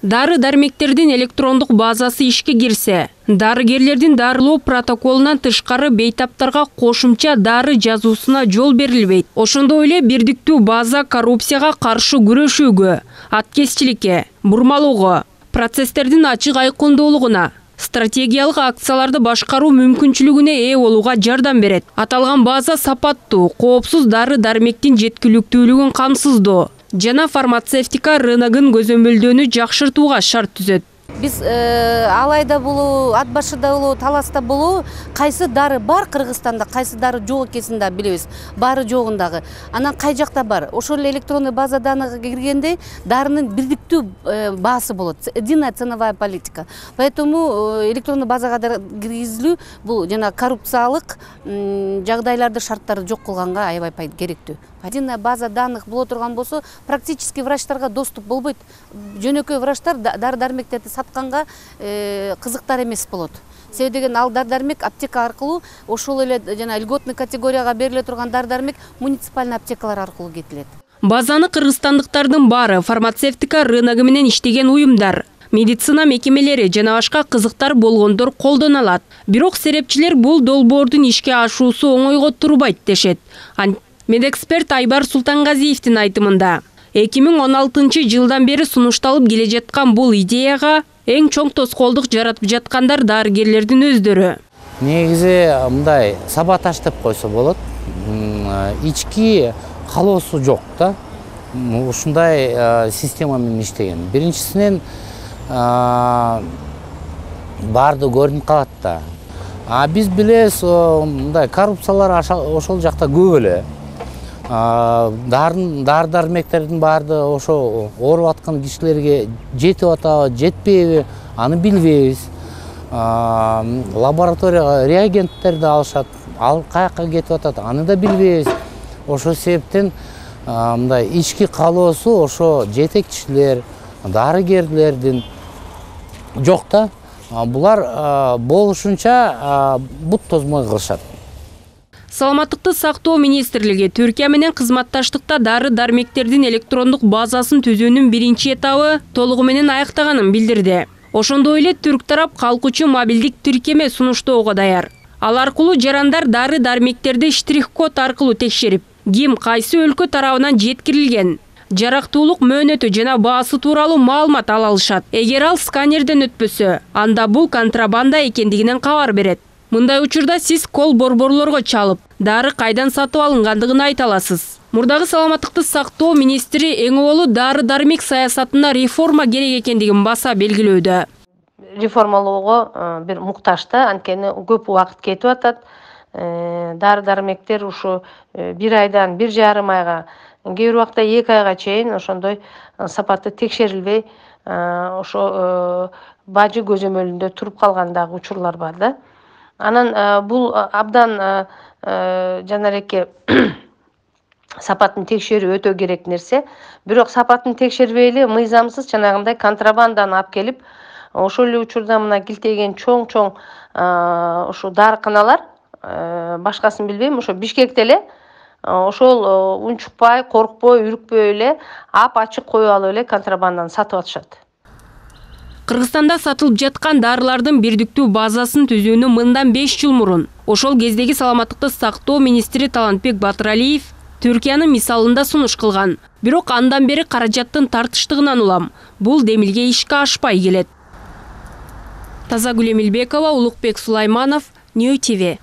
Дары-дармектердин электрондук базасы ишке кирсе, дарыгерлердин дарылоо протоколунан тышкары бейтаптарга кошумча дары жазуусуна жол берилбейт. Ошондой эле бирдиктүү база коррупцияга каршы күрөшүүгө, аткезчиликке, бурмалоого, процесстердин ачык айкындуулугуна, стратегиялык акцияларды башкаруу мүмкүнчүлүгүнө ээ болууга жардам берет. Аталган база сапаттуу, коопсуз дары-дармектин жеткиликтүүлүгүн камсыздоо жана фармацевтика рыногун көзөмөлдөөнү жакшыртууга шарт түзөт. Биз алайда болуу, ат башыда болуу, таласта болуу, кайсы дары бар Кыргызстанда, кайсы дары жок экенин да билебиз. Баары жогундагы. Анан кай жакта бар? Ошол эле электронный база данныга киргенде дарынын бирдиктүү баасы болот. Единая ценовая политика. Поэтому электронный базага киргизилүү бул жана коррупциялык жагдайларды, шарттарды жок кылганга аябай керектүү. Единая база данных боло турган болсо, практически врачтарга доступ болбойт. Жөнөкөй врачтар дары-дармектерди сатканга кызыктар эмес болот. Себеби деген ал дары-дармек аптека аркылуу ошол эле жана льготный категорияга бериле турган дары-дармек муниципальный аптекалар аркылуу кетилет. Базаны кыргызстандыктардын баары фармацевтика рыногу менен иштеген уюмдар, медицина мекемелери жана башка кызыктар болгондор колдоно алат. Бирок серепчилер бул долбоордун ишке ашуусу оңойго турбайт дешет. Медэксперт Айбар Султангазиевдин айтымында 2016 жылдан бери сунушталып келе жаткан бул идеяга эң чоң тоскоолдук жаратып жаткандар дарыгерлердин өздөрү. Негизи мындай саботаж деп койсо болот. Ички калоосу жок да. Ушундай система менен иштеген. Биринчисинен баарды көрүнүп калат да. Биз билебиз, мындай коррупциялар ошол жакта көп эле. Дары-дармектердин баарды ошо ооруп аткан кишилерге жетип атабы, жетпейби, аны билбейбиз. Лабораторияга реагенттерди алышат, ал каяка кетип атат, аны да билбейбиз. Ошол себептен мындай ички калоосу ошо жетекчилер, дарыгерлердин жок да. Булар болушунча бут тозмой кылышат. Саламаттыкты сактоо министрлиги Түркия менен кызматташтыкта дары-дармектердин электрондук базасын түзүүнүн биринчи этабы толугу менен аяктаганын билдирди. Ошондой эле түрк тарап калкучу мобилдик тиркеме сунуштоого даяр. Ал аркылуу жарандар дары-дармектерди штрих-код аркылуу текшерип, ким кайсы өлкө тарабынан жеткирилген, жарактуулук мөөнөтү жана баасы тууралуу маалымат ала алышат. Эгер ал сканерден өтпөсө, анда бул контрабанда экендигинен кабар берет. Мындай учурда сиз кол борборлорго чалып, дары кайдан сатып алынгандыгын айта аласыз. Мурдагы саламаттыкты сактоо министри эң олу дары-дармек саясатына реформа керек экендигин баса белгилөөдө. Реформалоого бир муктаж да, анткени көп убакыт кетип атат. Дары-дармектер ушу 1 айдан 1,5 айга, кээ бир убакта 2 айга чейин ошондой сапаты текшерилбей, ошо бажы көзөмөлүндө туруп калган дагы учурлар бар да. Анан бул абдан жанареке сапатын текшерүү өтө керек нерсе. Бирок сапатын текшербей эле мыйзамсыз жанагындай контрабанданы алып келип, ошол эле учурда мына килтеген чоң-чоң ушу дарыканалар, башкасын билбейм, ошо Бишкекте эле ошол унчукпай, коркпой, үрүкпөй эле ап-ачык коюп алып эле контрабанданы сатып атышат. Кыргызстанда сатылып жаткан дарылардын бирдиктүү базасын түзүүнү мындан 5 жыл мурун ошол кездеги саламаттыкты сактоо министри Талантбек Батыралиев Түркиянын мисалында сунуш кылган. Бирок андан бери каражаттын тартыштыгынан улам бул демилге ишке ашпай келет. Тазагүл Эмилбекова, Улукбек Сулайманов, Нью ТВ.